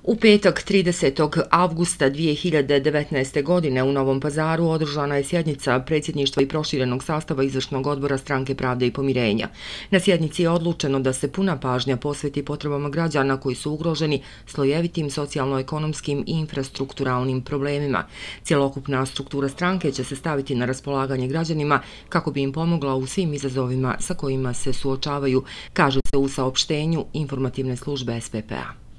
U petak 30. avgusta 2019. godine u Novom Pazaru održana je sjednica predsjedništva i proširenog sastava izvršnog odbora Stranke pravde i pomirenja. Na sjednici je odlučeno da se puna pažnja posveti potrebama građana koji su ugroženi slojevitim socijalno-ekonomskim i infrastrukturalnim problemima. Cjelokupna struktura stranke će se staviti na raspolaganje građanima kako bi im pomogla u svim izazovima sa kojima se suočavaju, kaže se u saopštenju informativne službe SPP-a.